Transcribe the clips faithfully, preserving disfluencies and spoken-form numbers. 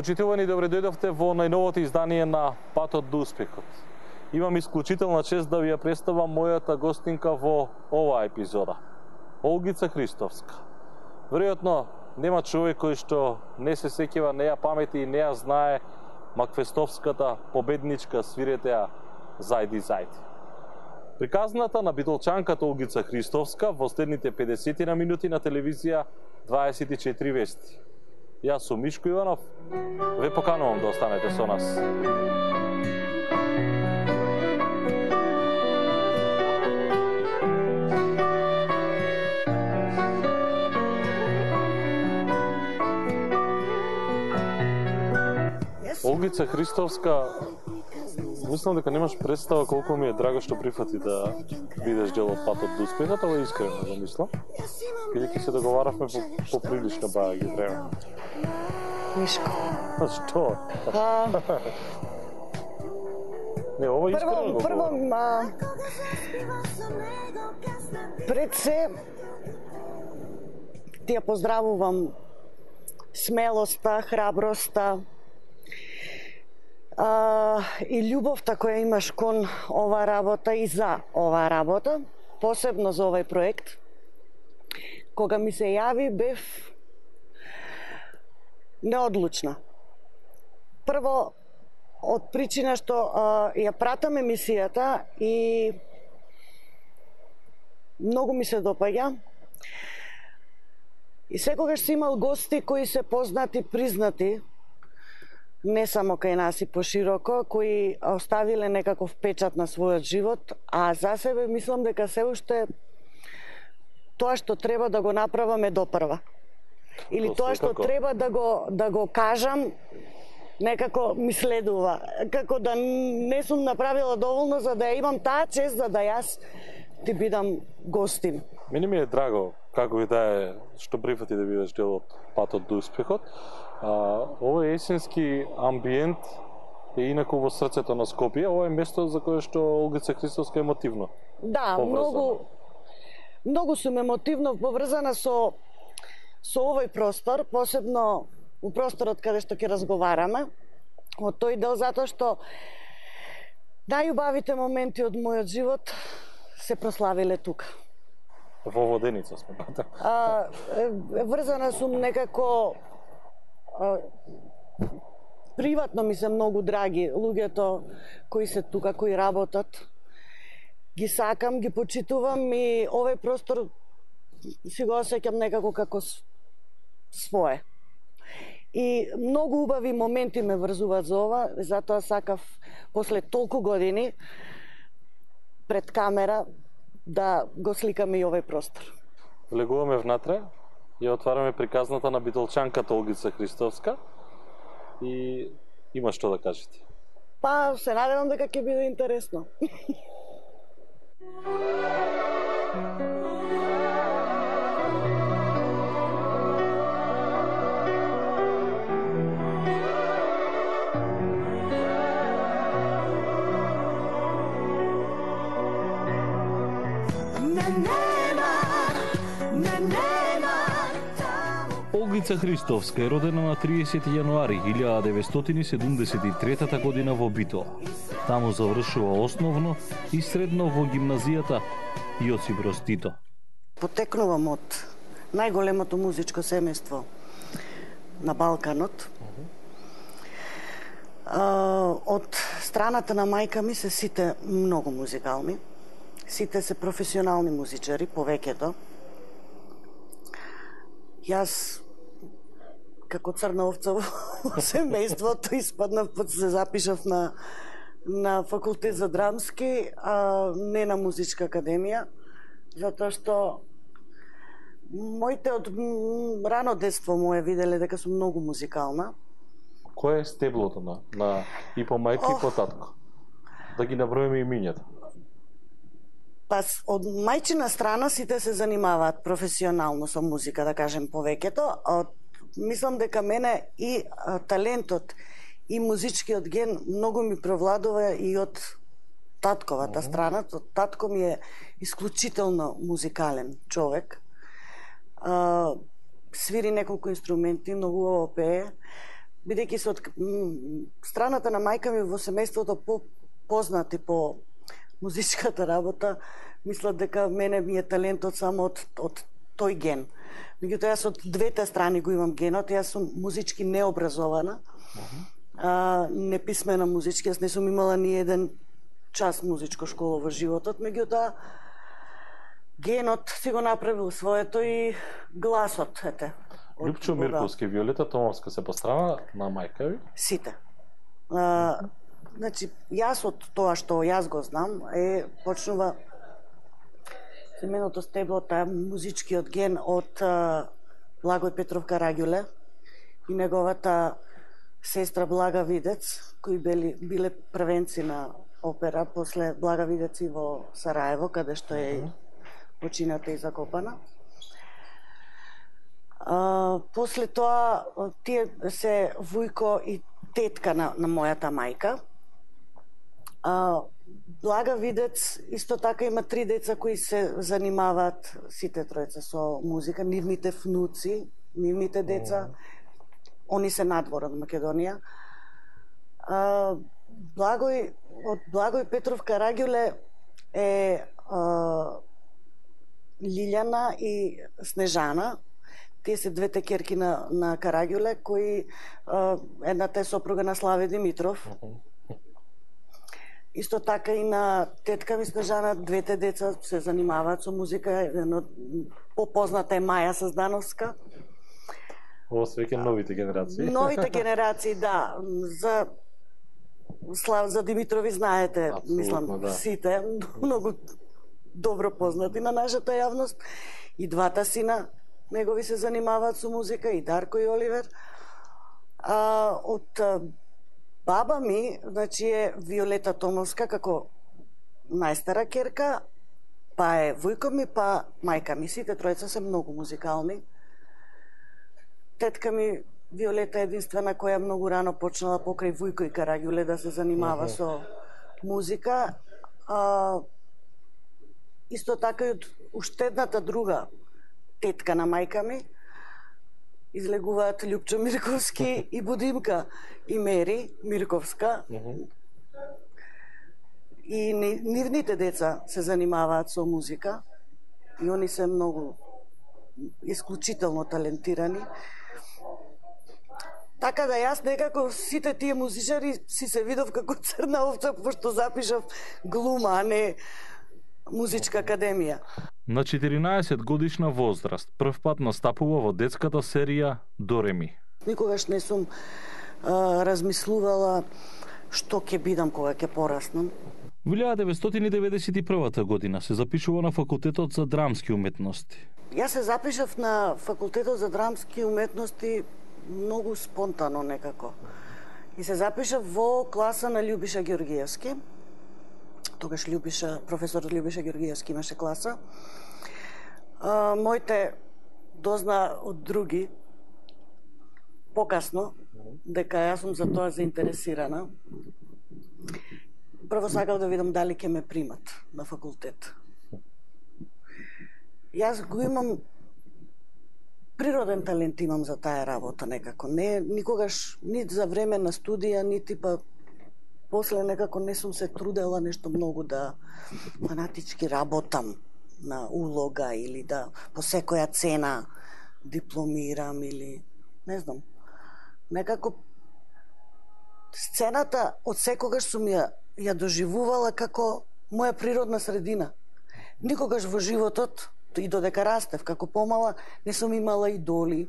Почитувани, добре дојдовте во најновото издание на Патот до успехот. Имам исклучителна чест да ви ја представам мојата гостинка во оваа епизода. Олгица Христовска. Веројатно нема човек кој што не се сеќава, не ја памети и не ја знае маквестовската победничка свиретеа Зајди Зајди. Приказната на битолчанката Олгица Христовска во следните педесет минути на телевизија дваесет и четири вести. Јас сум Мишко Иванов, ве поканувам да останете со нас. Олгица Христовска, мислам дека немаш представа колку ми е драго што прифати да бидеш дел од Патот до успехот, ова искрено го мислам. Бидејќи се договаравме по, по прилично баја ги време. Мишко. Што? А... Не, ова искрено го Прво, а... пред се ти ја поздравувам смелоста, храброста, а, и љубовта која имаш кон оваа работа и за оваа работа, посебно за овој проект. Кога ми се јави, бев неодлучна. Прво, од причина што а, ја пратам емисијата и многу ми се допаѓа. И секогаш си имал гости кои се познати, признати, не само кај нас и пошироко, кои оставиле некаков печат на својот живот, а за себе мислам дека се уште тоа што треба да го направам е допрва. Или тоа што треба да го да го кажам некако ми следува, како да не сум направила доволно за да ја имам таа чест за да јас ти бидам гостин. Мене ми е драго како и да е што прифати да бидеш дел од Патот до успехот. А, овој есенски амбиент е инаку во срцето на Скопје. Ова е место за кое што Олгица Христовска е емотивно. Да, поврзана. многу многу сум емотивно поврзана со со овој простор, посебно у просторот каде што ќе разговараме, од тој дел затоа што најубавите моменти од мојот живот се прославиле тука. Во Воденица сме. А, врзана сум некако а, приватно ми се многу драги луѓето кои се тука, кои работат. Ги сакам, ги почитувам и овој простор си го осеќам некако како свое. И многу убави моменти ме врзуваат за ова, затоа сакав после толку години пред камера да го сликаме и овој простор. Влегуваме внатре, ја отвараме приказната на битолчанката Олгица Христовска и има што да кажете. Па, се надевам дека ќе биде интересно. Олгица Христовска е родена на триесети јануари илјада деветстотини седумдесет и трета година во Битола. Таму завршува основно и средно во гимназијата Јосип Броз Тито. Потекнувам од најголемото музичко семејство на Балканот. Од страната на мајка ми се сите многу музикални. Сите се професионални музичари, повеќето. Јас, како црна овца во семејството, испаднав, па се запишав на, на факултет за драмски, а не на музичка академија, затоа што моите од рано детство мое виделе дека сум многу музикална. Кој е стеблото на, на и по мајка oh. и по татко? Да ги наброиме имињата. Па од мајчина страна сите се занимаваат професионално со музика, да кажем повеќето. Од, мислам дека мене и а, талентот и музичкиот ген многу ми провладува и од татковата mm-hmm. страна. Татко ми е исклучително музикален човек. А, свири неколку инструменти, многу убаво пее. бидејќи се од страната на мајка ми во семејството по познати по музичката работа, мислат дека мене ми е талентот само од, од тој ген. Меѓутоа, јас од двете страни го имам генот, јас сум музички необразована, а, неписмена музички, јас не сум имала ни еден час музичко школа во животот, меѓутоа, генот си го направил своето и гласот, ете. Лјупчо Мирковски, Виолета Томовска се пострана на мајка ви? Сите. А, значи, јас од тоа што јас го знам, е почнува семеното стебло, таа музичкиот ген од а, Благој Петров Караѓуле и неговата сестра Блага Видец, кои били, биле првенци на опера, после Блага Видец и во Сараево, каде што е почината и закопана. А, после тоа, тие се вујко и тетка на, на мојата мајка. А, Блага Видец исто така има три деца кои се занимаваат, сите тројца, со музика, нивните внуци, нивните деца, они се надвор од Македонија. А, Благој, од Благој Петров Караѓуле е а, Лилјана и Снежана. Тие се двете керки на, на Караѓуле, кои а, едната е сопруга на Славе Димитров. Исто така и на тетка ми Снежана, двете деца се занимаваат со музика, едно попозната е Маја Саздановска. Ово се веќе новите генерации. Новите генерации, да. За Слав, за Димитрови знаете, абсолютно, мислам, да. Сите, многу добро познати на нашата јавност. И двата сина негови се занимаваат со музика, и Дарко и Оливер. А, од баба ми, значи е Виолета Томовска како најстара керка, па е вујко ми, па мајка ми. Сите тројца се многу музикални. Тетка ми Виолета е единствена која многу рано почнала покрај Вујко и Караѓуле да се занимава uh-huh. со музика. А, исто така и од уште едната друга тетка на мајка ми излегуваат Лјупчо Мирковски и Будимка и Мери Мирковска. Uh-huh. И нивните деца се занимаваат со музика и они се многу исклучително талентирани. Така да јас некако сите тие музичари си се видов како црна овца, пошто запишав глума, а не музичка академија. На четиринаесет годишна возраст прв пат настапува во детската серија Дореми. Никогаш не сум а, размислувала што ќе бидам кога ќе пораснам. Во илјадесет деветстотини деветдесет и прва година се запишува на факултетот за драмски уметности. Јас се запишав на факултетот за драмски уметности многу спонтано некако. И се запишав во класа на Љубиша Ѓоргиевски. Тогаш Љубиша, професор Љубиша Ѓоргиевски имаше класа. А, моите дозна од други покасно дека јас сум за тоа заинтересирана. Прво сакав да видам дали ќе ме примат на факултет. Јас го имам природен талент имам за таа работа некако. Не никогаш нит за време на студија, нити па после некако не сум се трудела нешто многу да фанатички работам на улога или да по секоја цена дипломирам или не знам. Некако сцената од секогаш сум ја, ја доживувала како моја природна средина. Никогаш во животот и додека растев како помала не сум имала идоли.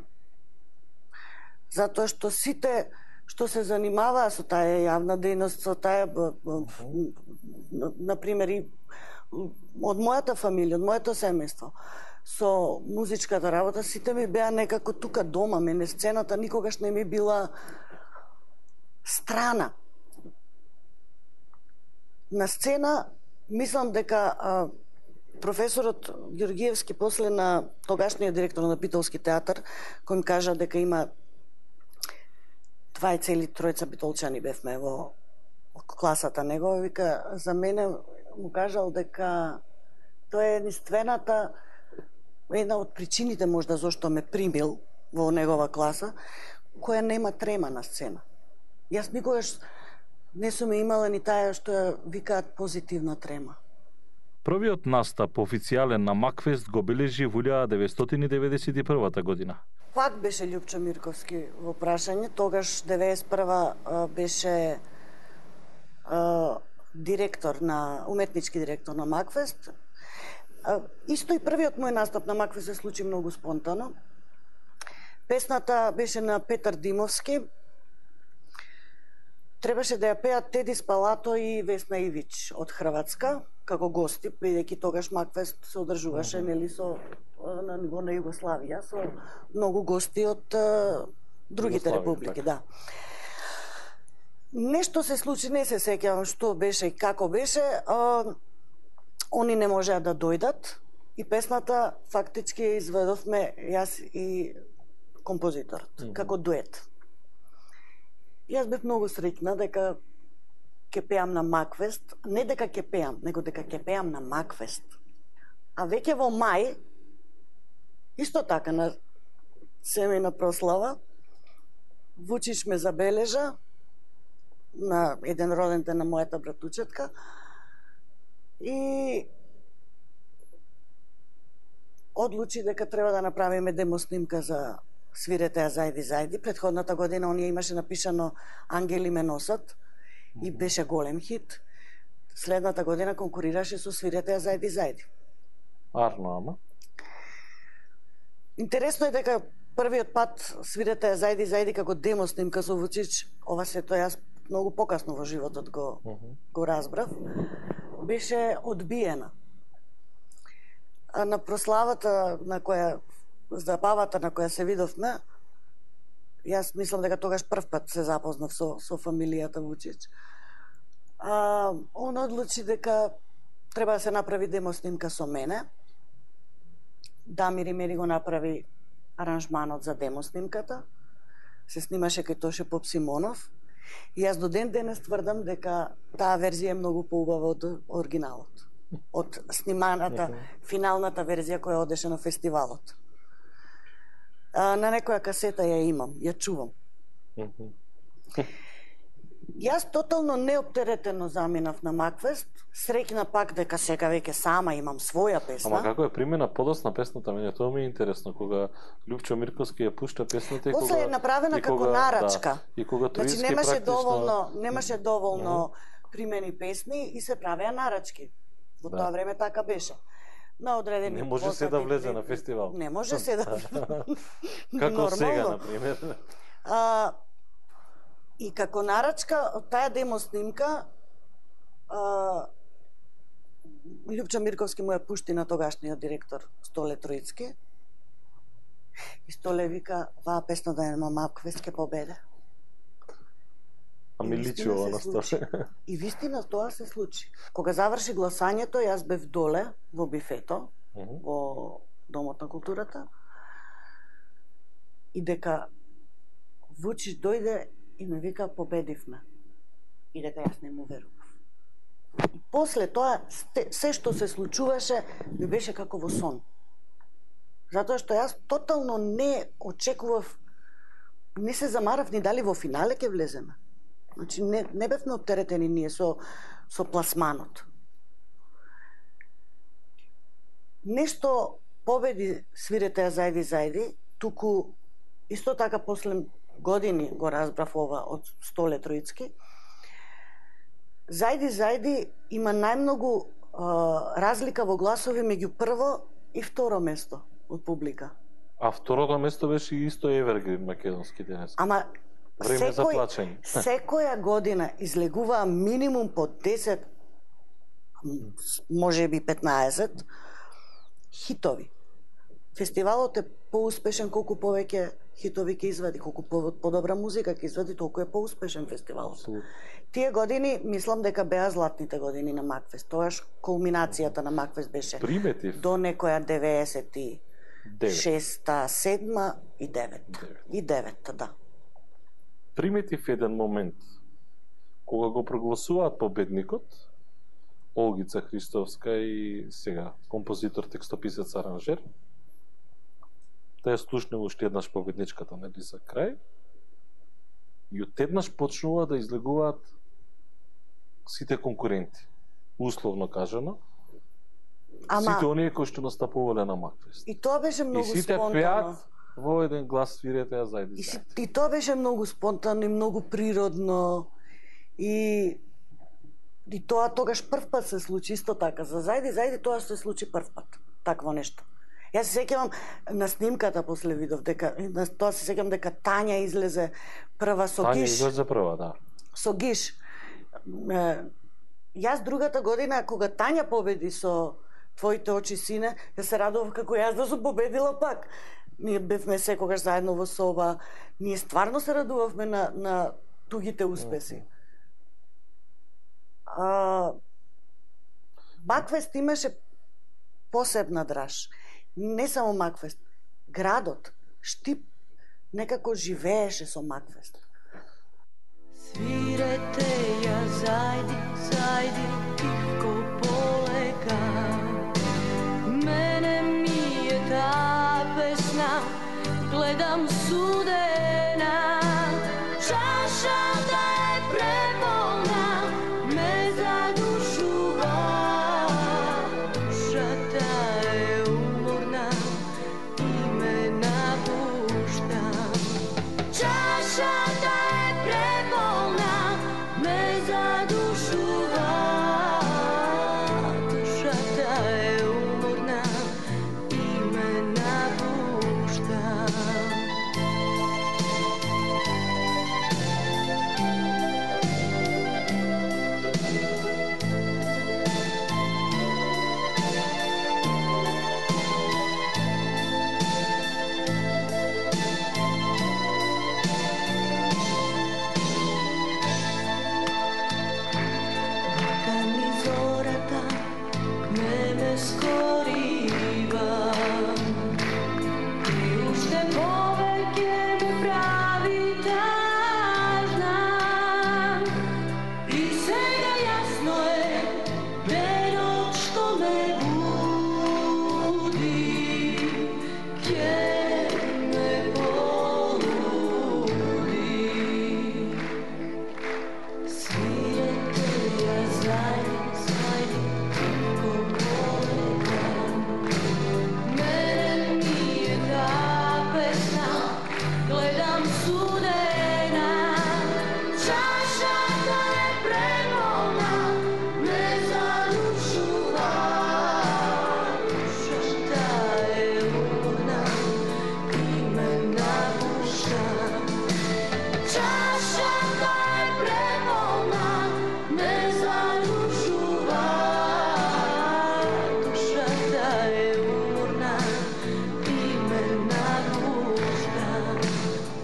Затоа што сите што се занимаваа со таа јавна дејност, со таа на пример и од мојата фамилија, од моето семејство, со музичката работа, сите ми беа некако тука дома, мене сцената никогаш не ми била страна. На сцена мислам дека а, професорот Ѓоргиевски после на тогашниот директор на Битолски театар, кој ми кажа дека има два цели тројца битолчани бевме во класата негова, вика, за мене му кажал дека тоа е единствената, една од причините можда зашто ме примил во негова класа, која нема трема на сцена. Јас никогаш не сум имала ни таа што ја викаат позитивна трема. Првиот настап официјален на Макфест го бележи во илјада деветстотини деветдесет и прва година. Пак беше Љупчо Мирковски во прашање, тогаш деветдесет и прва беше а, директор на уметнички директор на Макфест. А, исто и првиот мој настап на Макфест се случи многу спонтано. Песната беше на Петар Димовски. Требаше да ја пеат Теди Спалато и Весна Ивич од Хрватска како гости, бидејќи тогаш Макфест се одржуваше нели со на ниво на Југославија со многу гости од а, другите републики, да. Нешто се случи, не се сеќавам што беше и како беше, а, они не можеа да дојдат и песната фактички ја изведовме јас и композиторот, mm -hmm. како дует. Јас бев многу среќна дека ќе пеам на Макфест, не дека ќе пеам, него дека ќе пеам на Макфест. А веќе во мај, исто така на семејна прослава, Вучич ме забележа на еден роден ден на мојата братучетка и одлучи дека треба да направиме демоснимка за Свирете ја зајди зајди. Предходната година оние имаше напишано Ангели ме носат и беше голем хит. Следната година конкурираше со Свирете ја зајди зајди. Арно, ама? Интересно е дека првиот пат Свирете ја зајди зајди како демо снимка со Вучич, ова се тоа јас многу покасно во животот го, uh -huh. го разбрав, беше одбиена. А на прославата на која забавата на која се видовме, јас мислам дека тогаш прв пат се запознав со, со фамилијата Вучич. А, он одлучи дека треба да се направи демо снимка со мене. Дамир Имери го направи аранжманот за демо снимката. Се снимаше кај Тоше Поп Симонов. И јас до ден денес тврдам дека таа верзија е многу поубава од оригиналот. Од сниманата, финалната верзија која одеше на фестивалот. А, на некоја касета ја имам, ја чувам. Јас тотално неоптеретено заминав на Макфест, среќна пак дека сега веќе сама имам своја песна. Ама како е примена подосна песната, мене тоа ми е интересно, кога Љупчо Мирковски ја пушта песната и кога... После е направена како кога, нарачка. Да, и кога значи немаше практично... доволно, немаше доволно mm -hmm. примени песни и се правеа нарачки. Во да. Тоа време така беше. На одредени не може се да влезе на фестивал. Не може се да. Како нормално. Сега на пример. А, и како нарачка таа демо снимка а, Љупчо Мирковски му ја пушти на тогашниот директор Столе Троицки. И Столе вика, ваа песна да нема Макфест ќе победе. А ми личи ова на Столе. И вистина тоа се случи. Кога заврши гласањето, јас бев доле во бифето, uh -huh. во Домот на културата, и дека Вучич дојде и ме вика победивме. И дека јас не му верував. И после тоа, се што се случуваше, ми беше како во сон. Затоа што јас тотално не очекував, не се замарав ни дали во финале ќе влеземе. Значи, не, не бевме оптеретени ние со, со пласманот. Нешто победи Свирете ја зајди зајди, туку исто така после години го разбрав ова од Столе Троицки. Зајди зајди има најмногу а, разлика во гласови меѓу прво и второ место од публика. А второто место беше исто Евергрин македонски денес. Ама време секој, за плачење. Секоја година излегуваа минимум по десет, може би петнаесет хитови. Фестивалот е поуспешен колку повеќе хитови ќе извади, колку подобра музика ќе извади, толку е поуспешен фестивалот. Абсолютно. Тие години, мислам дека беа златните години на Макфест. Тоаш кулминацијата на Макфест беше Приметив. До некоја деветдесет и шеста, седма и девета. И девета, да. Приметив еден момент, кога го прогласуваат победникот, Олгица Христовска и сега композитор, текстописец, аранжер, да ја слушнем уште еднаш победничката, нели, за крај. И оттеднаш почнува да излегуваат сите конкуренти. Условно кажано, Ама... сите оние кои што настапувале на Макфест. И тоа беше многу спонтано. И сите спонтано. пеат во еден глас свирете, а зајди И, зајди. и тоа беше многу спонтано и многу природно. И и тоа тогаш прв пат се случи исто така. За зајди зајди тоа се случи прв пат. Такво нешто. Јас се сеќавам на снимката после видов дека на тоа се сеќавам дека Тања излезе прва со Тања Гиш. излезе прва, да. Со Гиш. Е, јас другата година кога Тања победи со Твоите очи сине, ја се радував како јас да сум победила пак. Ние бевме секогаш заедно во соба. Ние стварно се радувавме на на тугите успеси. А, Макфест имаше посебна драж. Не само Макфест, градот, Штип, некако живееше со Макфест. Свирете ја зајди, зајди, тихко полека. Мене ми е таа песна, гледам судена. Чашата е преполна, ме задушува. Душата е уморна и ме напушта. Чашата е преполна, ме задушува. Душата е уморна и ме напушта. Ми зората ме ме скорива и уште повеќе ме прави тажна. И сега јасно е денот што ме буди, ќе ме полуди. Свирете ја зајди, зајди, тихко полека. Мене ми е таа песна, гледам судена. Чашата е преполна, ме задушува. Душата е уморна и ме напушта. Чашата е преполна, ме задушува. Душата е уморна и ме напушта.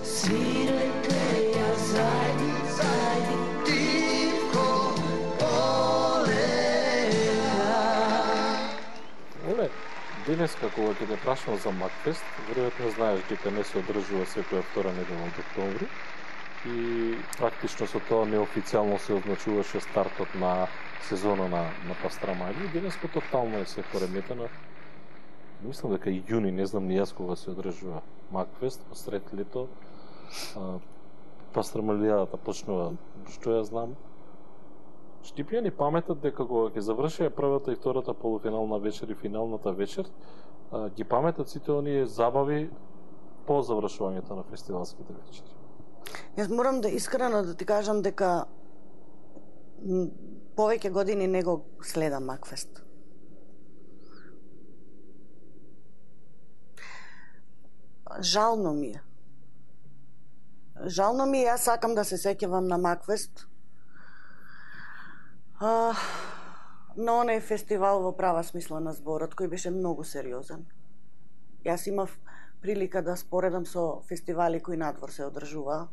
Свирете ја зајди, зајди, тихко полека. Оле, денеска кога ќе те прашам за Макфест, веројатно знаеш дека не се одржува секоја втора недела од октомври и практично со тоа неофицијално се означуваше стартот на сезона на на Пастрамајли. Денеска тотално е се пореметено. Мислам дека и јуни, не знам ни јас кога се одржува Макфест, посред лето. А, Пастрамалијата почнува, што ја знам. Штипјани паметат дека кога ќе заврши првата и втората полуфинална вечер и финалната вечер, а, ги паметат сите оние забави по завршувањето на фестивалските вечери. Јас морам да искрено да ти кажам дека м, повеќе години не го следам Макфест. Жално ми е. Жално ми е, јас сакам да се сеќавам на Макфест. А, на онеј фестивал во права смисла на зборот, кој беше многу сериозен. Јас имав прилика да споредам со фестивали кои надвор се одржуваа,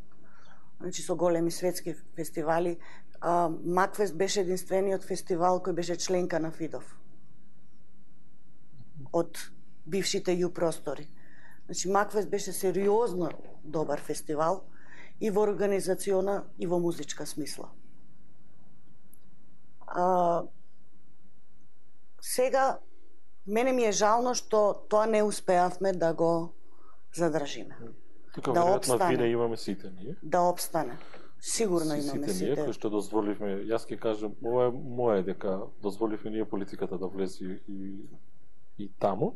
значи со големи светски фестивали. А, Макфест беше единствениот фестивал кој беше членка на ФИДОВ. Од бившите ју простори. Значи Макфест беше сериозно добар фестивал и во организациона и во музичка смисла. А, сега мене ми е жално што тоа не успеавме да го задржиме. Тука да веројатно опстане. вине имаме сите ние. Да опстане. Сигурно Си- имаме сите ние сите. кои што дозволивме, јас ќе кажам, ова е моje дека дозволивме ние политиката да влезе и и таму.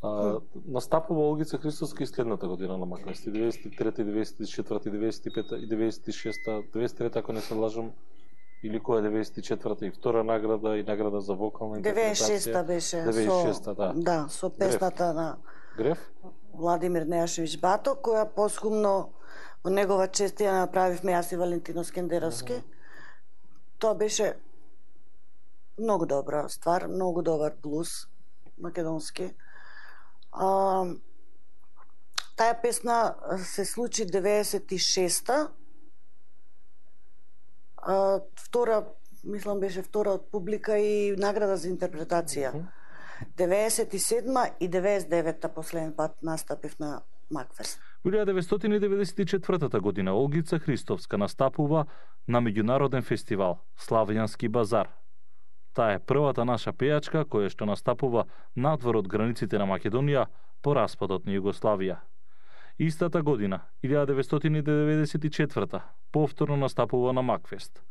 А, настапува Олгица Христовска и следната година на Маквест, деветдесет и трета, деветдесет и четврта, деветдесет и пета и деветдесет и шеста, деветдесет и трета ако не се лажам, или која деветдесет и четврта и втора награда и награда за вокална интерпретација. деветдесет и шеста беше деветдесет и шеста, со, да. да, со песната на Греф? Владимир Нејашевиќ Бато, која посхумно во негова чест ја направивме јас и Валентино Скендеровски. Тоа беше многу добра ствар, многу добар блуз македонски. А, таа песна се случи деветдесет и шеста. А, втора, мислам беше втора од публика и награда за интерпретација. деветдесет и седма и деветдесет и девета последен пат настапив на Макфест. Во илјада деветстотини деветдесет и четвртата година Олгица Христовска настапува на меѓународен фестивал Славјански базар. Таа е првата наша пејачка која што настапува надвор од границите на Македонија по распадот на Југославија. Истата година, илјада деветстотини деветдесет и четврта, повторно настапува на Макфест.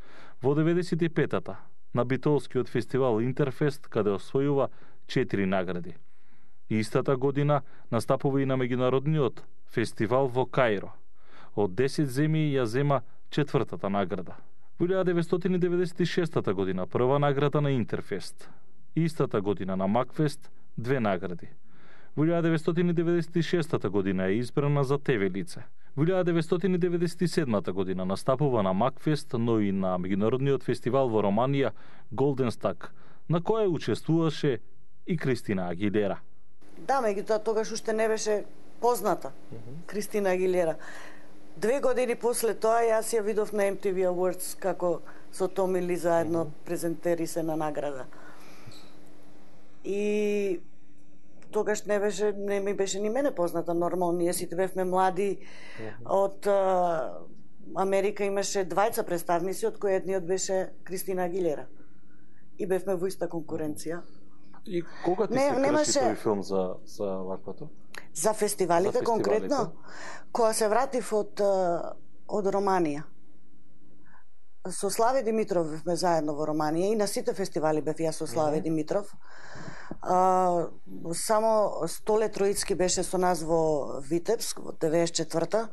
Во деветдесет и петата, на битолскиот фестивал Интерфест, каде освојува четири награди. Истата година настапува и на меѓународниот фестивал во Каиро. Од десет земји ја зема четвртата награда. Во илјада деветстотини деветдесет и шеста година прва награда на Интерфест. Истата година на Макфест две награди. Во илјада деветстотини деветдесет и шеста година е избрана за те ве лице. Во илјада деветстотини деветдесет и седма година настапува на Макфест, но и на меѓународниот фестивал во Романија Голден Стак, на која учествуваше и Кристина Агилера. Да, меѓутоа тогаш уште не беше позната Кристина Агилера. Две години после тоа јас ја видов на Ем Ти Ви Awards како со Томи Ли заедно презентери се на награда. И тогаш не беше, не ми беше ни мене позната, нормално, ние сите бевме млади. Од а, Америка имаше двајца представници, од кои едниот беше Кристина Агилера. И бевме во иста конкуренција. И кога ти Не, се крши немаше- тој филм за, за ваквото? За фестивалите, За фестивалите. конкретно, кога се вратив од, а, од Романија. Со Славе Димитров бевме заедно во Романија и на сите фестивали бев јас со Славе Димитров. А, само Столе Троицки беше со нас во Витебск во деветдесет и четврта.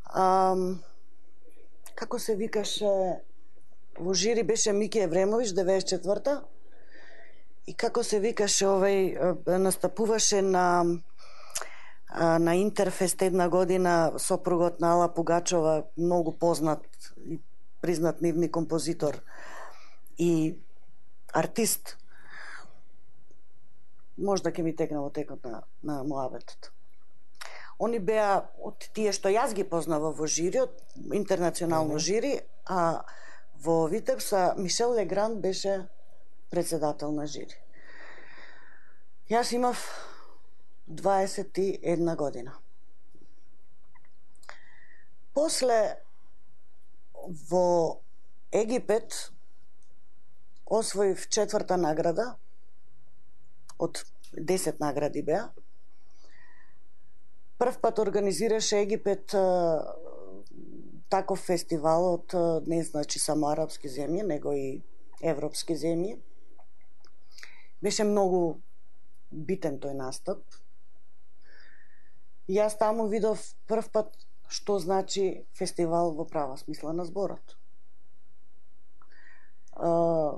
А, како се викаше, во жири беше Мики Евремович деветдесет и четврта. И како се викаше овој, е, настапуваше на а, на Интерфест една година сопругот на Ала Пугачова, многу познат и признат нивни композитор и артист. Можда ќе ми текна во текот на, на муабетот. Они беа од тие што јас ги познавав во жири, од интернационално жири, а во Витебса Мишел Легран беше председател на жири. Јас имав дваесет и една година. После во Египет освоив четврта награда од десет награди беа. Прв пат организираше Египет а, таков фестивал од а, не значи само арапски земји, него и европски земји. Беше многу битен тој настап. Јас таму видов прв пат што значи фестивал во права смисла на зборот. А,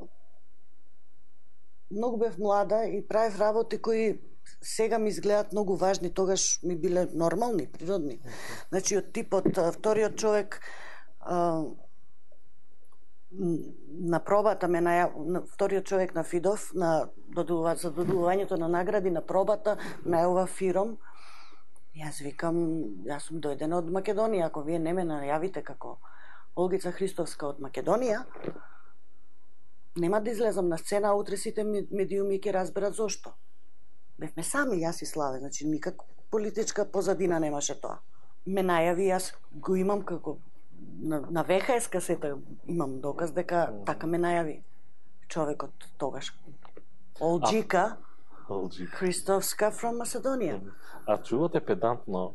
многу бев млада и правев работи кои сега ми изгледаат многу важни, тогаш ми биле нормални, природни. Значи од типот а, вториот човек а, на пробата ме наја... вториот човек на Фидов на додува... за додувањето на награди на пробата најава Фиром. Јас викам, јас сум дојдена од Македонија, ако вие не ме најавите како Олгица Христовска од Македонија, нема да излезам на сцена, а утре сите медиуми ќе разберат зошто. Бевме сами, јас и Славе, значи никак политичка позадина немаше тоа. Ме најави, јас го имам како на, на В Х С касета, имам доказ дека така ме најави човекот тогаш. Олџика Олџик. Христовска from Macedonија. А чувате педантно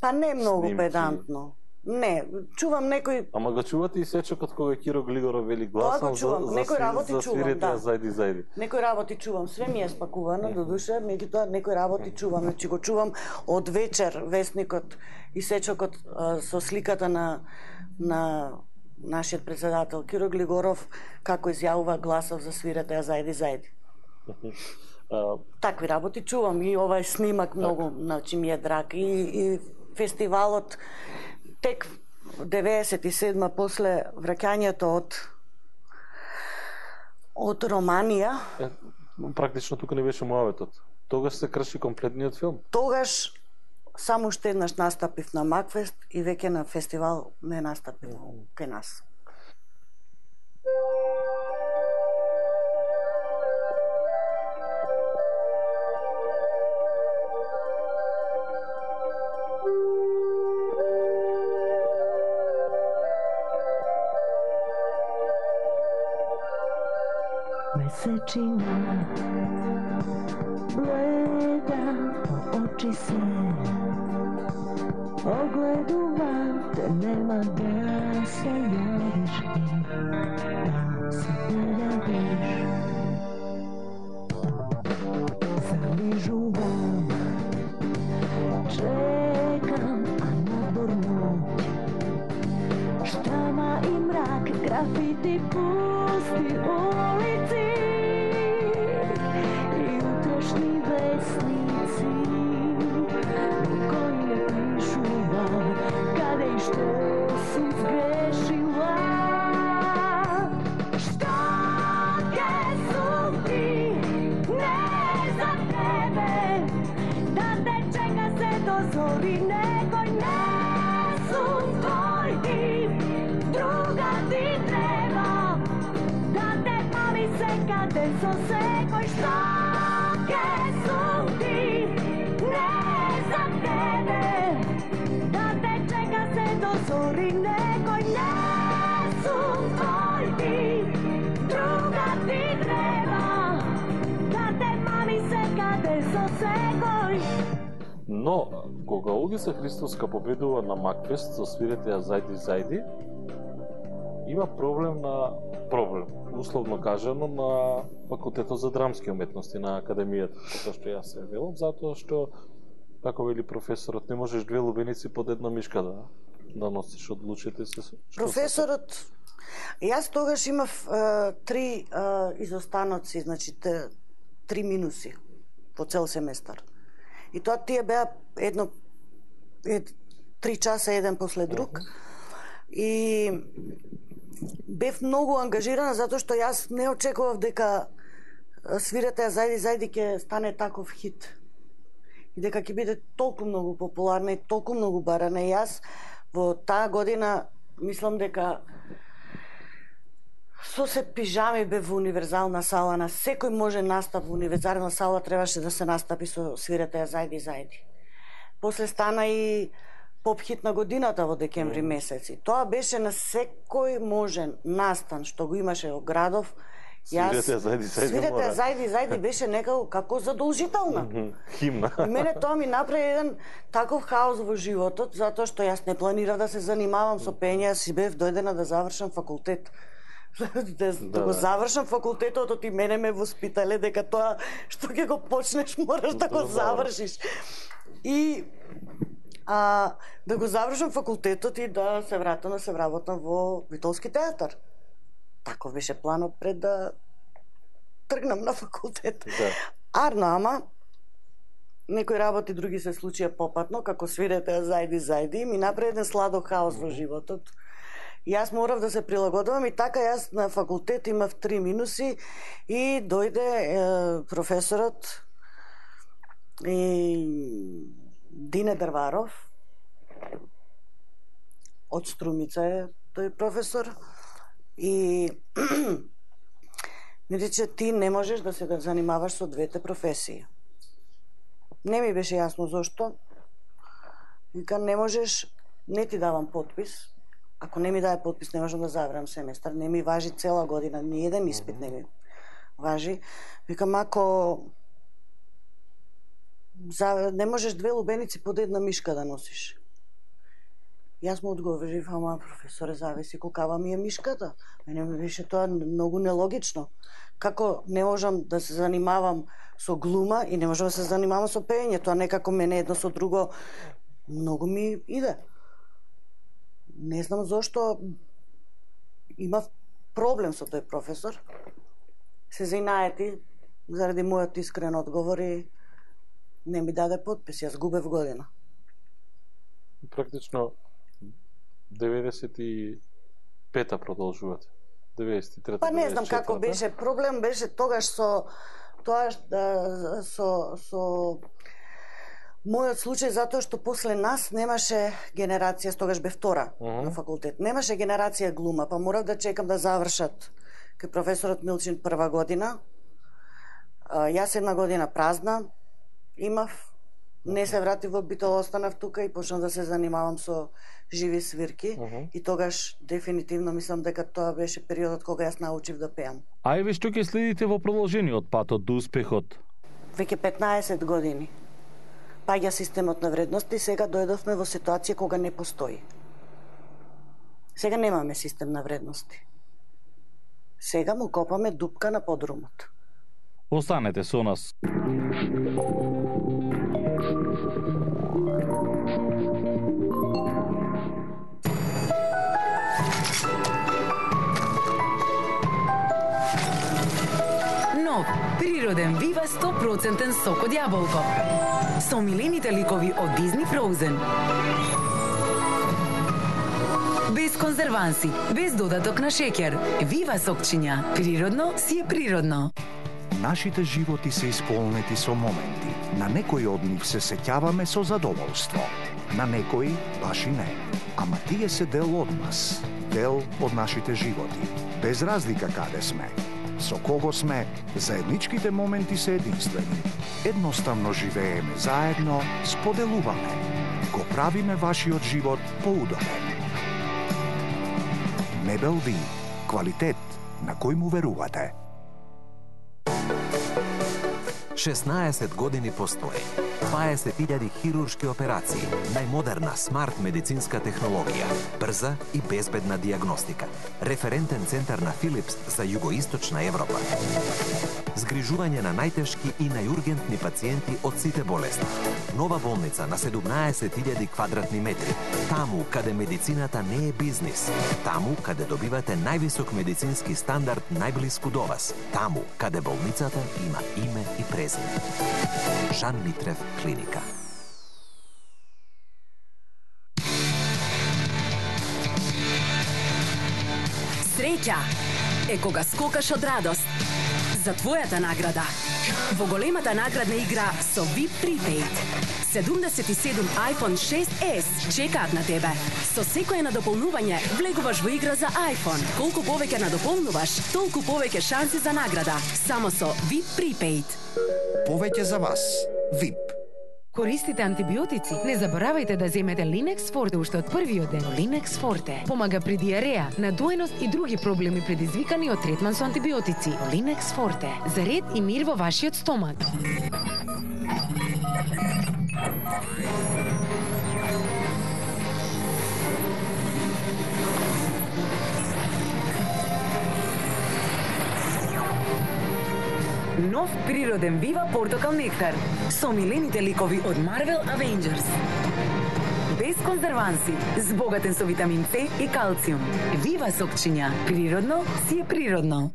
Па не многу Снимки. педантно. Не, чувам некој Ама го чувате и сечокот кога Киро Глигоров вели гласно Тоа го чувам. за, за, Некои сви- работи за чувам, свирете, да. а зајди, зајди. Некои работи чувам, све ми е спакувано, додуше, меѓутоа некои работи чувам, значи го чувам од вечер весникот и сечокот а, со сликата на на нашиот председател Киро Глигоров како изјавува гласов за свирете, а зајди, зајди. А, Такви работи чувам и овај снимак многу, значи ми е драг и, и фестивалот тек деветдесет и седма после враќањето од од Романија, е, практично тука не беше муаветот. Тогаш се крши комплетниот филм. тогаш само уште еднаш настапив на Макфест и веќе на фестивал не настапив кај нас. Mesečina gleda po oči se, ogledujem te, nema da se javiš i da se pojaviš. Zaližuvam, čekam, a nadbor noć, štama i mrak, grafiti pusti ulici i utrašnji vesnici u koje pišu vam kada i što su zgrešila. Što ke su ti ne za tebe, da te čeka se do zori, nekoj ne su tvoj tip, druga ti treba, da te pali se kade so se koji što ke su ti ne za tebe, da te čeka se do zori, nekoj ne su tvoj tip, druga ti treba, da te pali se kade so se koji. Но, кога Олгица Христовска победува на Макфест со свирете ја зајди, зајди, има проблем на проблем, условно кажано, на факултетот за драмски уметности на академијата, затоа што јас се велам, затоа што, како вели професорот, не можеш две лубеници под една мишка да да носиш, одлучите се. Што Професорот, јас тогаш имав е, три е, изостаноци, значи те, три минуси по цел семестар. И тоа тие беа едно е, три часа еден после друг. И бев многу ангажирана затоа што јас не очекував дека свирете ја зајди, зајди ќе стане таков хит. И дека ќе биде толку многу популарна и толку многу барана. И јас во таа година мислам дека со се пижами бев во универзална сала, на секој може настап во универзална сала требаше да се настапи со свирете ја зајди, зајди. После стана и поп-хит на годината во декември месеци. Тоа беше на секој можен настан што го имаше во градов. Јас Свирете ја зајди, зајди свирете ја мора. зајди, зајди беше некако како задолжителна. Химна. И мене тоа ми направи еден таков хаос во животот, затоа што јас не планирав да се занимавам со пење, јас си бев дојдена да завршам факултет. да, да го да. завршам факултетот, од и мене ме воспитале дека тоа што ќе го почнеш мораш да го Да, завршиш. И а, да го завршам факултетот и да се вратам да се вработам во Витолски театар. Таков беше планот пред да тргнам на факултет. Да. Арно, ама некои работи други се случија попатно, како свирете ја зајди, зајди, ми направи еден сладок хаос во животот. И јас морав да се прилагодувам и така јас на факултет имав три минуси и дојде е, професорот и Дине Дрваров од Струмица е тој професор и ми рече ти не можеш да се да занимаваш со двете професии. Не ми беше јасно зошто. Вика не можеш, не ти давам подпис. Ако не ми даде подпис, не можам да завршам семестар. Не ми важи цела година, ни еден испит не ми важи. Викам, ако за, не можеш две лубеници под една мишка да носиш. Јас му одговорив, ама професоре, зависи колкава ми е мишката. Мене ми беше тоа многу нелогично. Како не можам да се занимавам со глума и не можам да се занимавам со пеење, тоа некако мене едно со друго многу ми иде. Не знам зошто имав проблем со тој професор. Се заинаети заради мојот искрен одговор и не ми даде подпис, јас губев година. Практично деветдесет и пета продолжувате. деветдесет и трета. Па не знам како беше, проблем беше тогаш со тоа да, со со мојот случај, затоа што после нас немаше генерација, тогаш бе втора uh -huh. на факултет. Немаше генерација глума, па морав да чекам да завршат кај професорот Милчин прва година. Јас една година празна имав, не се вратив во Битол, останав тука и почнав да се занимавам со живи свирки uh -huh. и тогаш дефинитивно мислам дека тоа беше периодот кога јас научив да пеам. А еве што ќе следите во продолжениот патот до успехот? Веќе петнаесет години паѓа системот на вредности, сега дојдовме во ситуација кога не постои. Сега немаме систем на вредности. Сега му копаме дупка на подрумот. Останете со нас. Нов, природен Вива сто проценти сок од јаболко. Со омилените ликови од Disney Frozen. Без конзерванси, без додаток на шеќер. Вива сокчиња. Природно си е природно. Нашите животи се исполнети со моменти. На некои од нив се сеќаваме со задоволство. На некои баш и не. Ама тие се дел од нас. Дел од нашите животи. Без разлика каде сме. Со кого сме, заедничките моменти се единствени. Едноставно живееме заедно, споделуваме. Го правиме вашиот живот поудобен. Мебел Ви. Квалитет на кој му верувате. шеснаесет години постои. дваесет илјади хируршки операции, најмодерна смарт медицинска технологија, брза и безбедна диагностика, референтен центар на Филипс за југоисточна Европа. Згрижување на најтешки и најургентни пациенти од сите болести. Нова болница на седумнаесет илјади квадратни метри. Таму каде медицината не е бизнис. Таму каде добивате највисок медицински стандард најблиску до вас. Таму каде болницата има име и презиме. Жан Митрев клиника. Среќа е кога скокаш од радост за твојата награда. Во големата наградна игра со ви ай пи Prepaid. седумдесет и седум iPhone шест ес чекаат на тебе. Со секое надополнување влегуваш во игра за iPhone. Колку повеќе надополнуваш, толку повеќе шанси за награда. Само со ви ай пи Prepaid. Повеќе за вас. ви ай пи. Користите антибиотици. Не заборавајте да земете Linex Forte уште од првиот ден. Linex Forte помага при диареја, надоеност и други проблеми предизвикани од третман со антибиотици. Linex Forte за ред и мир во вашиот стомак. Нов природен Вива портокал нектар со омилените ликови од Marvel Avengers. Без конзерванси, збогатен со витамин С и калциум. Вива сокчиња. Природно си е природно.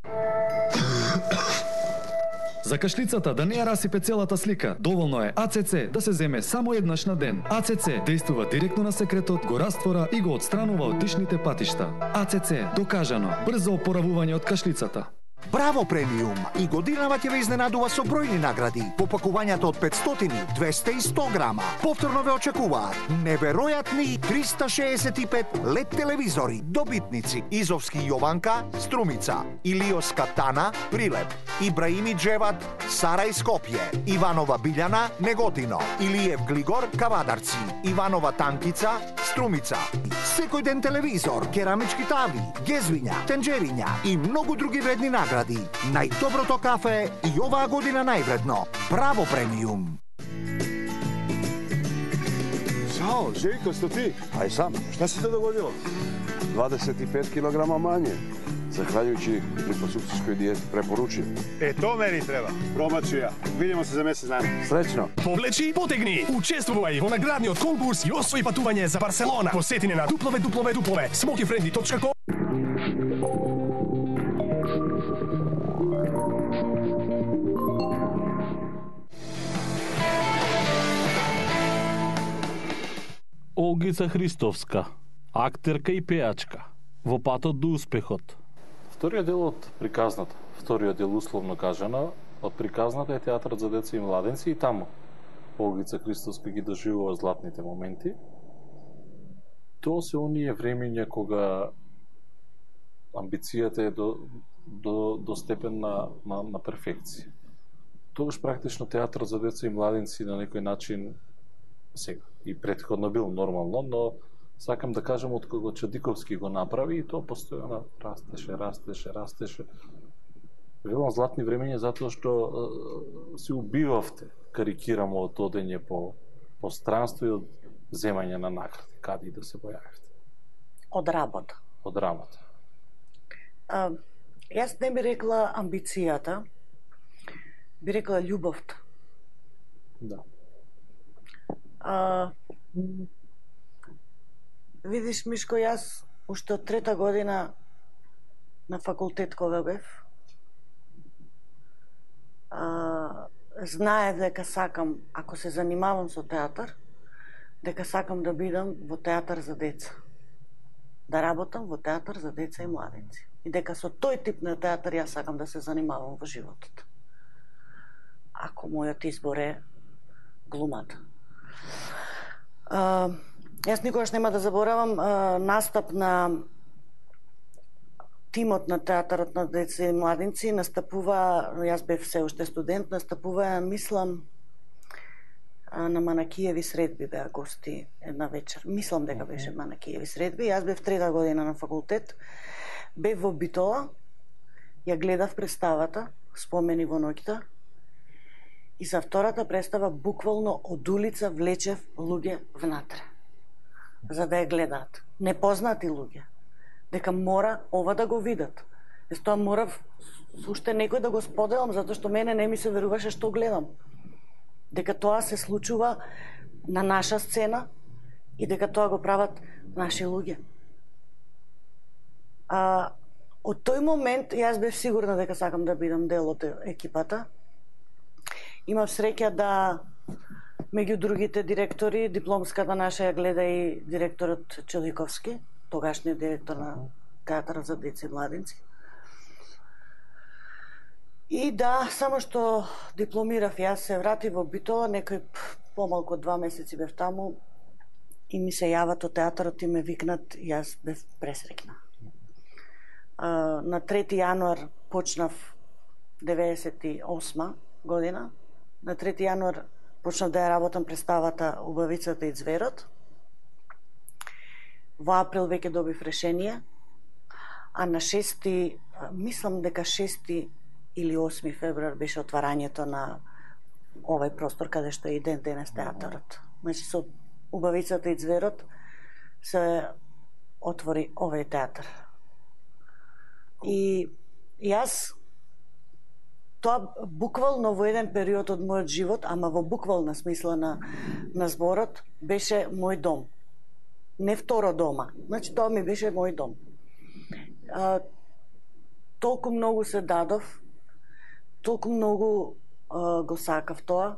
За кашлицата да не ја расипе целата слика, доволно е А Це Це да се земе само еднаш на ден. А Це Це дејствува директно на секретот, го раствора и го отстранува од дишните патишта. А Це Це докажано брзо опоравување од кашлицата. Браво премиум и годинава ќе ве изненадува со бројни награди по пакувањата од петстотини, двеста и сто грама. Повторно ве очекуваат неверојатни триста шеесет и пет лед телевизори, добитници Изовски Јованка, Струмица, Илиоска Тана, Прилеп, Ибраими Джеват, Сарај Скопје, Иванова Билјана, Неготино, Илиев Глигор, Кавадарци, Иванова Танкица, Струмица. Секој ден телевизор, керамички тави, гезвиња, тенџериња и многу други вредни награди. Најдоброто кафе и оваа година највредно. Браво премиум! За Ао, Желјко, сте ти? Ај сам, šta се те догодило? дваесет и пет килограма мање, захвалјујќи липосукцијској диети препоручи. Е, то мени треба. Пробачу ја. Видимо се за месец дана. Среќно. Повлечи и потегни. Учествувај во наградниот конкурс и освои патување за Барселона. Посети на дуплове дуплове дуплове смокифренди точка ком. Олгица Христовска, актерка и пеачка, во патот до успехот. Вториот дел од приказната, вториот дел условно кажано, од приказната е театарот за деца и младенци и таму Олгица Христовска ги доживува златните моменти. Тоа се оние времења кога амбицијата е до, до, до степен на, на, на перфекција. Тогаш практично театарот за деца и младенци на некој начин сега и претходно бил нормално, но сакам да кажам од кога Чадиковски го направи и тоа постојано растеше, растеше, растеше. Велам златни времења затоа што е, се убивавте, карикирамо од одење по, по странство и од земање на награди, каде и да се појавите. Од работа. Од работа. А, јас не би рекла амбицијата, би рекла љубовта. Да. А, видиш, Мишко, јас уште од трета година на факултет кога бев, а, знаев дека сакам, ако се занимавам со театар, дека сакам да бидам во театар за деца. Да работам во театар за деца и младенци. И дека со тој тип на театар јас сакам да се занимавам во животот. Ако мојот избор е глумата. Uh, јас никогаш нема да заборавам uh, настап на тимот на театарот на деца и младенци. Настапува, јас бев се уште студент, настапува, мислам, uh, на Манакиеви средби беа гости една вечер. Мислам дека беше Манакиеви средби. Јас бев трета година на факултет, бев во Битола, ја гледав представата Спомени во ноќта. И за втората представа буквално од улица влечев луѓе внатре, за да ја гледаат. Непознати луѓе. Дека мора ова да го видат. Јас тоа морав уште некој да го споделам, затоа што мене не ми се веруваше што гледам. Дека тоа се случува на наша сцена и дека тоа го прават наши луѓе. А, од тој момент јас бев сигурна дека сакам да бидам дел од екипата. Имав среќа да меѓу другите директори, дипломската наша ја гледа и директорот Челиковски, тогашниот директор на театарот за деца и младенци. И да, само што дипломирав, јас се вратив во Битола, некој помалку од два месеци бев таму и ми се јават од театарот и ме викнат, јас бев пресреќна. На трети јануар почнав деветдесет и осма година. На трети јануар почнав да ја работам представата Убавицата и ѕверот. Во април веќе добив решение, а на шести, мислам дека шести или осми февруар беше отварањето на овај простор каде што е и ден денес театарот. Значи со Убавицата и ձверот се отвори овај театар. И јас тоа буквално во еден период од мојот живот, ама во буквална смисла на, на зборот, беше мој дом. Не второ дома. Значи, тоа ми беше мој дом. А, толку многу се дадов, толку многу а, го сакав тоа.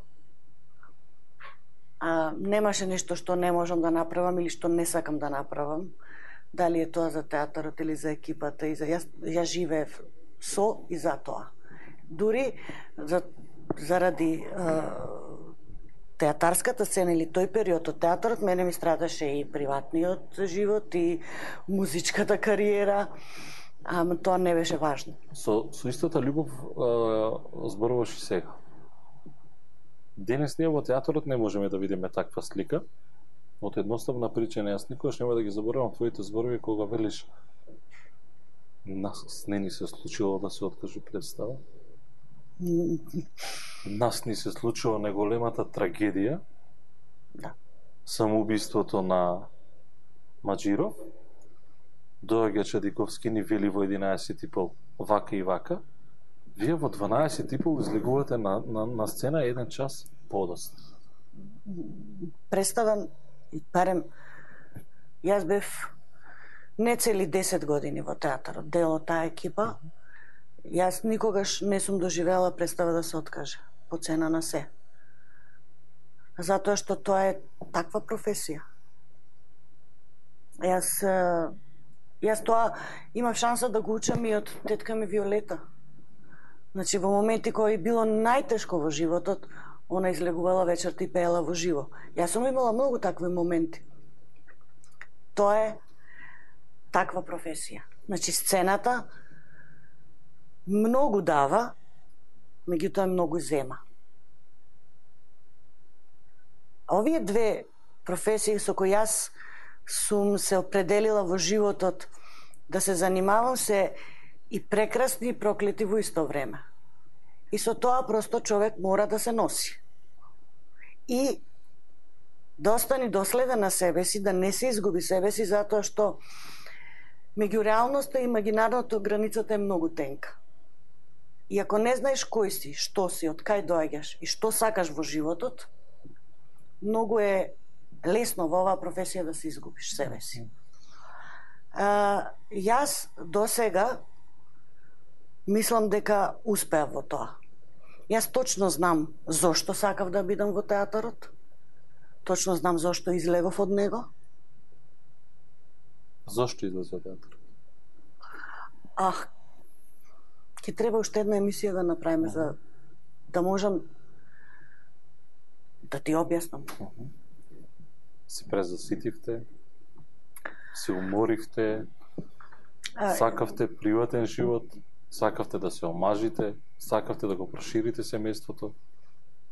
А, немаше нешто што не можам да направам или што не сакам да направам. Дали е тоа за театарот или за екипата. И за, јас, јас живеев со и за тоа. Дури за, заради а, театарската сцена или тој период од театарот, мене ми страдаше и приватниот живот и музичката кариера, ама тоа не беше важно. Со, со истата љубов а, зборуваш и сега. Денес ние во театарот не можеме да видиме таква слика, од едноставна причина. Јас никогаш нема да ги заборавам твоите зборови кога велиш нас не ни се случило да се откажи представа. Нас ни се случува најголемата трагедија. Да. самоубиството на Маџиров, доаѓа Чадиковски ни вели во единаесет и пол вака и вака, вие во дванаесет и пол излегувате на, на, на сцена еден час подост. Представам, барем, јас бев не цели десет години во театарот, дел од таа екипа. Јас никогаш не сум доживела представа да се откаже по цена на се. Затоа што тоа е таква професија. Јас јас тоа имав шанса да го учам и од тетка ми Виолета. Значи во моменти кои било најтешко во животот, она излегувала вечерта и пеела во живо. Јас сум имала многу такви моменти. Тоа е таква професија. Значи сцената многу дава, меѓутоа многу зема. А овие две професии со кои јас сум се определила во животот да се занимавам се и прекрасни и проклети во исто време. И со тоа просто човек мора да се носи. И да остани доследен на себе си, да не се изгуби себе си, затоа што меѓу реалноста и имагинарното границата е многу тенка. И ако не знаеш кој си, што си, од кај доаѓаш и што сакаш во животот, многу е лесно во оваа професија да се изгубиш себе си. А, јас до сега мислам дека успеав во тоа. Јас точно знам зошто сакав да бидам во театарот, точно знам зошто излегов од него. Зошто излез од театар? Ах, ќе треба уште една емисија да направиме за да можам да ти објаснам. Се презаситивте, се уморивте, сакавте приватен живот, сакавте да се омажите, сакавте да го проширите семејството.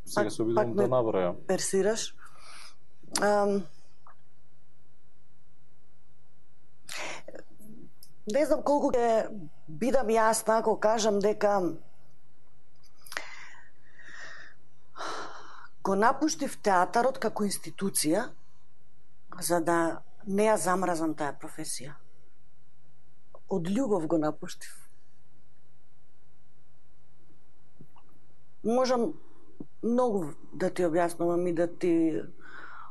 Сега се обидувам да набројам. Персираш. Ам... Не знам колку ќе бидам јасна ако кажам дека го напуштив театарот како институција за да не ја замразам таа професија. Од љубов го напуштив. Можам многу да ти објаснувам и да ти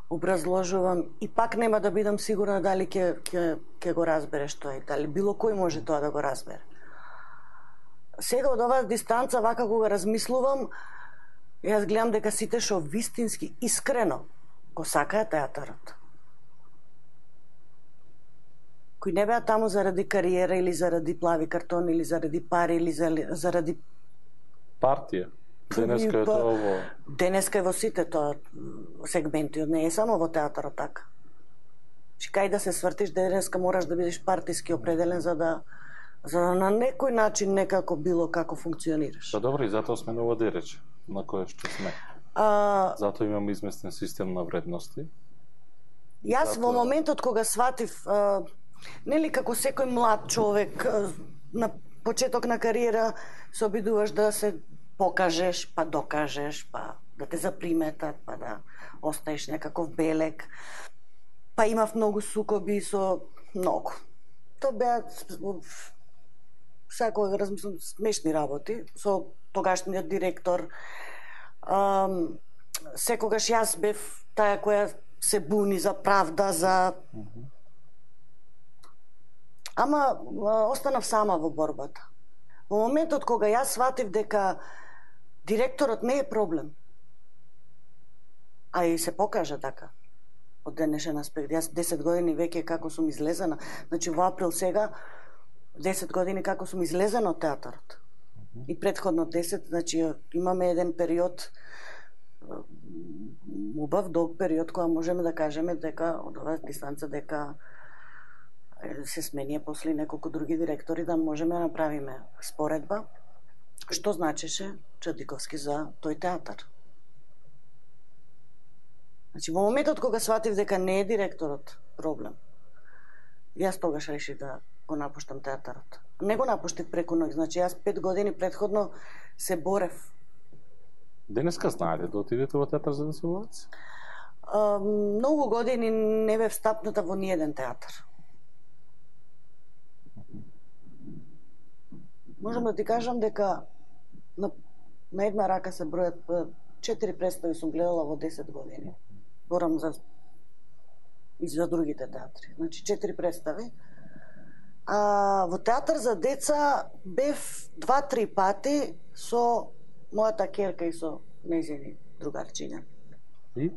образложувам и пак нема да бидам сигурна дали ќе ќе ќе го разбереш тоа и дали било кој може тоа да го разбере. Сега од оваа дистанца вака кога размислувам, јас гледам дека сите што вистински искрено го сакаат театарот. Кои не беа таму заради кариера или заради плави картон или заради пари или заради партија. Денеска е тоа во... Денеска е во сите тоа сегменти, не е само во театарот така. Чи кај да се свртиш, денеска мораш да бидеш партиски определен за да за да на некој начин некако било како функционираш. Па добро, и затоа сме на ова дерече, на кое што сме. А... Затоа имам изместен систем на вредности. Јас затоа... во моментот кога сватив, а, нели како секој млад човек а, на почеток на кариера се обидуваш да се покажеш, па докажеш, па да те заприметат, па да остаеш некаков белек. Па имав многу сукоби со многу. Тоа беа секој размислам смешни работи со тогашниот директор. Ам, секогаш јас бев таа која се буни за правда, за ама останав сама во борбата. Во моментот кога јас сватив дека директорот не е проблем, а и се покажа така, од денешен аспект. Јас десет години веќе како сум излезена, значи во април сега, десет години како сум излезена од театарот. И претходно десет, значи имаме еден период, убав, долг период, која можеме да кажеме дека од оваа дистанца дека се сменија после неколку други директори да можеме да направиме споредба, што значеше Чадиковски за тој театар. Значи, во моментот кога сватив дека не е директорот проблем, јас тогаш решив да го напуштам театарот. Не го напуштив преку ноќ, значи јас пет години претходно се борев. Денеска знаете да отидете во театар за да се влаци? а, многу години не бев стапната во ниеден театар. Можам да ти кажам дека на, на една рака се бројат четири представи сум гледала во десет години. Борам за и за другите театри. Значи четири представи. А во театар за деца бев два-три пати со мојата ќерка и со нејзини другарчиња. И?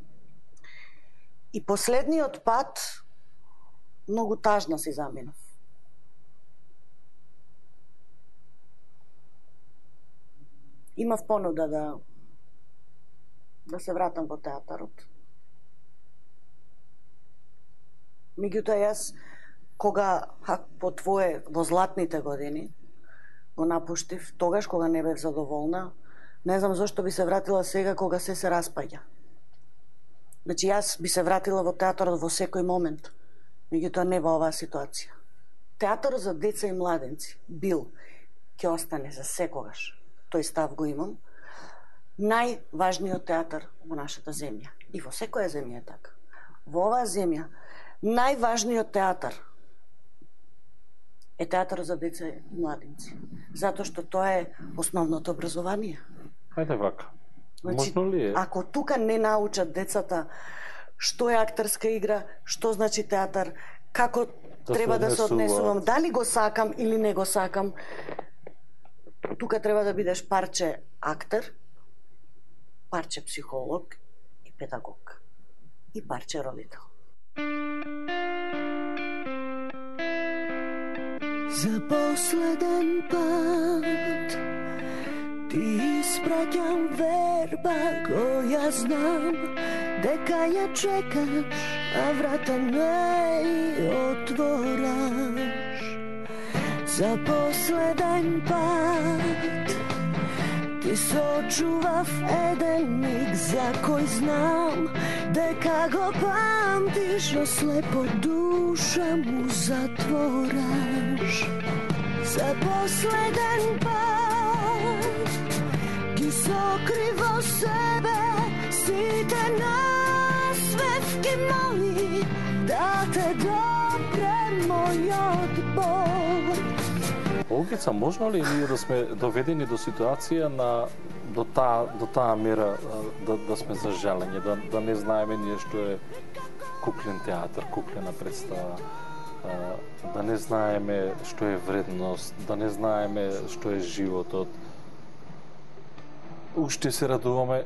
И последниот пат многу тажна си заминав. Имав понуда да да се вратам во театарот. Меѓутоа јас кога по твое во златните години го напуштив, тогаш кога не бев задоволна, не знам зошто би се вратила сега кога се се распаѓа. Значи јас би се вратила во театарот во секој момент, меѓутоа не во оваа ситуација. Театарот за деца и младенци бил, ќе остане за секогаш. Тој став го имам. Најважниот театар во нашата земја. И во секоја земја е така. Во оваа земја најважниот театар е театарот за деца и младенци. Затоа што тоа е основното образование. Хајде вака. Значи, Можно ли е? ако тука не научат децата што е актерска игра, што значи театар, како Да треба се да се однесуваат. однесувам, дали го сакам или не го сакам, тука треба да бидеш парче актер, парче психолог и педагог. И парче родител. За последен пат ти испраќам верба која знам дека ја чекаш, а врата не отвораш. За последен пат ти сочував еден миг за кој знам дека го памтиш, но слепо душа му затвораш. За последен пат ги сокри во себе сите насвевки мои, да те допре мојот Бог. Олгица, можно ли ние да сме доведени до ситуација на до таа до таа мера да да сме за жалење, да да не знаеме ние што е куклен театар, куклена представа, да не знаеме што е вредност, да не знаеме што е животот. Уште се радуваме,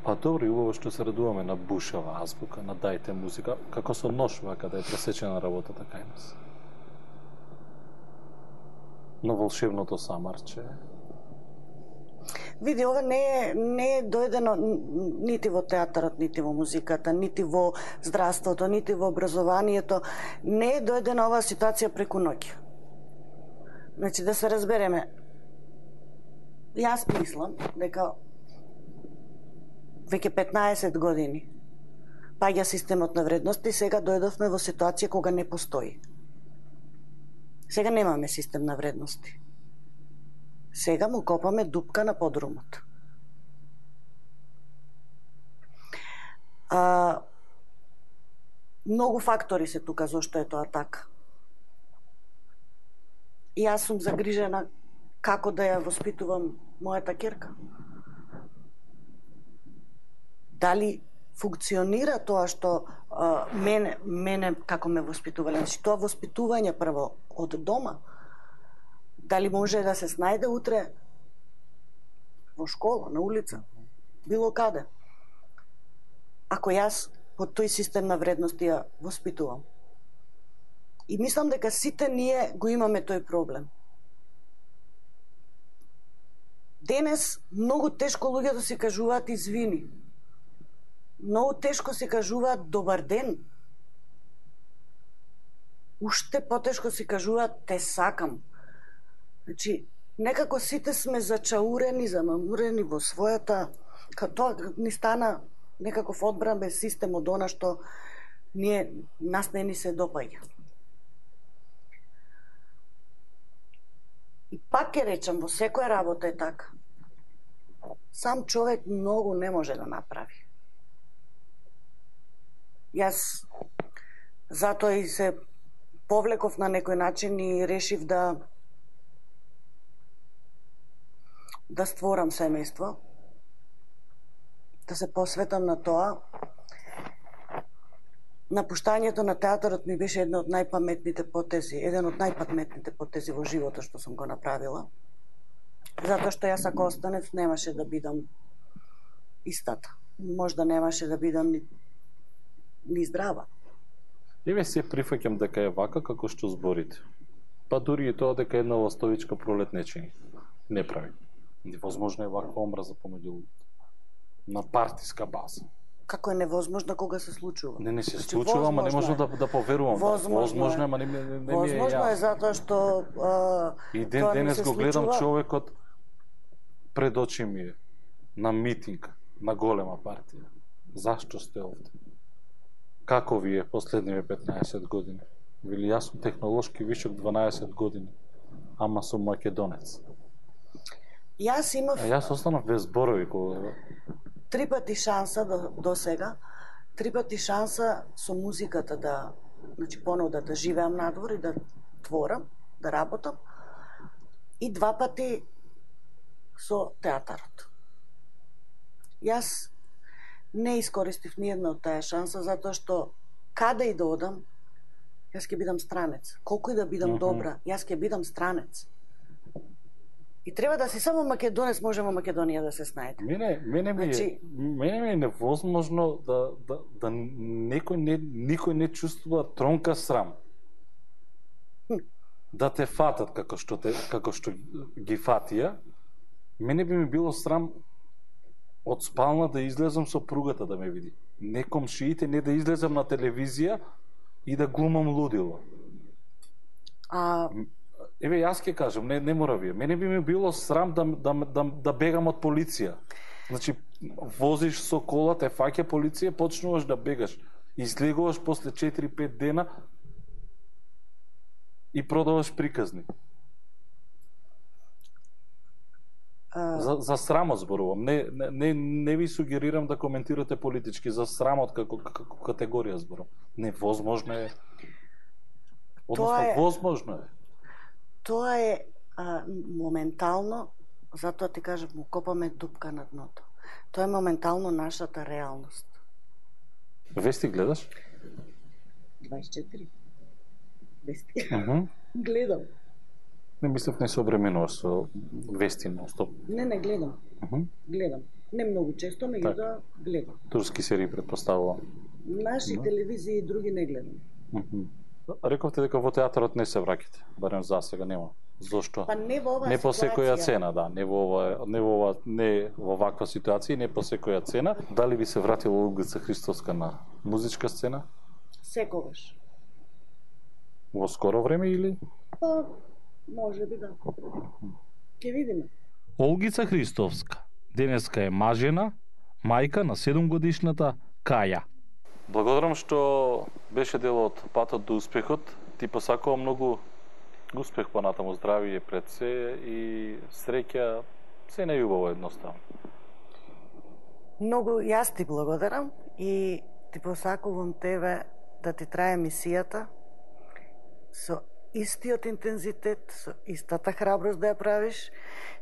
па добро и убаво што се радуваме на бушава азбука, на дајте музика, како со нож вака да е пресечена работата кај нас. Но волшебното самарче. Види, ова не е, не е дојдено нити во театарот, нити во музиката, нити во здравството, нити во образованието. Не е дојдена оваа ситуација преку ноќ. Значи, да се разбереме, јас мислам дека веќе петнаесет години паѓа системот на вредности, сега дојдовме во ситуација кога не постои. Сега немаме систем на вредности. Сега му копаме дупка на подрумот. А, многу фактори се тука зошто е тоа така. И јас сум загрижена како да ја воспитувам мојата ќерка. Дали функционира тоа што а, мене, мене како ме воспитувале. Значи, тоа воспитување прво од дома. Дали може да се снајде утре во школа, на улица, било каде. Ако јас по тој систем на вредности ја воспитувам. И мислам дека сите ние го имаме тој проблем. Денес многу тешко луѓето си кажуваат извини. Многу тешко си кажуваат добар ден. Уште потешко си кажуваат те сакам. Значи, некако сите сме зачаурени, замамурени во својата, као тоа ни стана некаков одбранбен систем од она што ние, нас не ни се допаѓа. И пак ќе речам, во секоја работа е така. Сам човек многу не може да направи. Јас затоа и се повлеков на некој начин и решив да да створам семејство, да се посветам на тоа. Напуштањето на театарот ми беше една од најпаметните потези, еден од најпаметните потези во животот што сум го направила. Затоа што јас ако останев немаше да бидам истата. Можда немаше да бидам ни, ни здрава. Еве се прифаќам дека е вака како што зборите. Па дури и тоа дека една ластовичка пролет не чини. Не прави. Невозможно е ваква омраза помеѓу луѓето. На партиска база. Како е невозможно кога се случува? Не, не се случува, ама не можам да, да поверувам. Возможно, возможно е, ама не, не, не ми е Возможно е затоа што а, и ден тоа денес го гледам случува... човекот пред очи ми е на митинг на голема партија. Зашто сте овде? Како ви е последниве петнаесет години? Вели, јас сум технолошки вишок дванаесет години, ама сум македонец. Јас имав... А јас останав без зборови кога... Три пати шанса до, до сега, три пати шанса со музиката да, значи понуда да живеам надвор и да творам, да работам, и два пати со театарот. Јас не искористив ни една од таа шанса, затоа што каде и да одам, јас ќе бидам странец. Колку и да бидам mm-hmm. добра, јас ќе бидам странец. И треба да си само македонец може во Македонија да се снајде. Мене, мене ми значи... е, мене ми е невозможно да, да, да некој не, никој не чувствува тронка срам. Хм. Да те фатат како што, те, како што ги фатија. Мене би ми било срам од спална да излезам со пругата да ме види. Не комшиите, не да излезам на телевизија и да глумам лудило. А... Еве, јас ќе кажам, не, не мора вие. Мене би ми било срам да, да, да, да бегам од полиција. Значи, возиш со кола, те фаќа полиција, почнуваш да бегаш. Излегуваш после четири-пет дена и продаваш приказни. А... За, за срамот зборувам. Не, не, не, не ви сугерирам да коментирате политички. За срамот како, како категорија зборувам. Невозможно е. Односно, е... возможно е. Тоа е а, моментално, затоа ти кажам, му копаме дупка на дното. Тоа е моментално нашата реалност. Вести гледаш? дваесет и четири. Вести. Uh-huh. Гледам. Не мислев не се обременуваш со вести нон-стоп. Не, не гледам. Uh-huh. Гледам. Не многу често, меѓу да гледам. Турски серии предпоставувам. Наши uh-huh. телевизии и други не гледам. Uh-huh. Рековте дека во театарот не се враќате, барем за сега нема. Зошто? Па не во оваа не по секоја ситуација. цена, да, не во ова, не во ова, не во ваква ситуација, не по секоја цена. Дали би се вратила Олгица Христовска на музичка сцена? Секогаш. Во скоро време или? Па, може би да. Ќе видиме. Олгица Христовска денеска е мажена, мајка на седумгодишната Каја. Благодарам што беше дел од патот до успехот. Ти посакувам многу успех понатаму, здравие пред се и среќа, се најубаво едноставно. Многу јас ти благодарам и ти посакувам тебе да ти трае мисијата со истиот интензитет, со истата храброст да ја правиш,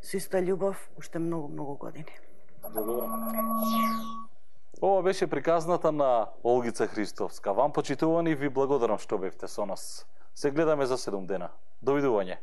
со иста љубов уште многу, многу години. Благодарам. Ова беше приказната на Олгица Христовска. Вам почитувани ви благодарам што бевте со нас. Се гледаме за седум дена. Довидување.